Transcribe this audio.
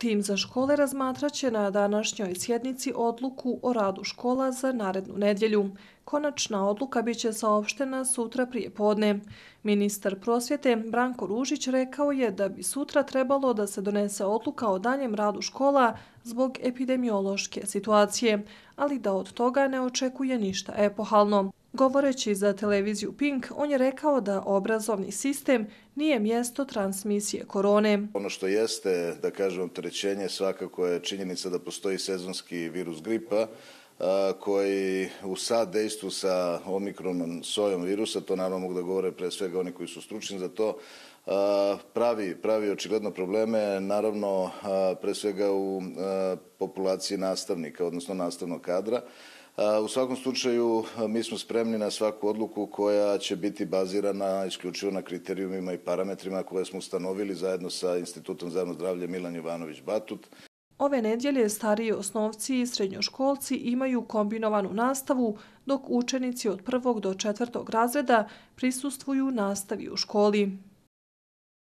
Tim za škole razmatraće na današnjoj sjednici odluku o radu škola za narednu nedjelju. Konačna odluka biće saopštena sutra prije podne. Ministar prosvjete Branko Ružić rekao je da bi sutra trebalo da se donese odluka o daljem radu škola zbog epidemiološke situacije, ali da od toga ne očekuje ništa epohalno. Govoreći za televiziju Pink, on je rekao da obrazovni sistem nije mjesto transmisije korone. Ono što jeste, da kažem, opterećenje svakako je činjenica da postoji sezonski virus gripa koji u saddejstvu sa omikronom sojom virusa, to naravno mogu da govore pre svega oni koji su stručni za to, pravi očigledno probleme, naravno pre svega u populaciji nastavnika, odnosno nastavnog kadra. U svakom slučaju mi smo spremni na svaku odluku koja će biti bazirana isključivo na kriterijumima i parametrima koje smo ustanovili zajedno sa Institutom za javno zdravlje Milan Jovanović Batut. Ove nedjelje stariji osnovci i srednjoškolci imaju kombinovanu nastavu, dok učenici od 1. do 4. razreda prisustvuju nastavi u školi.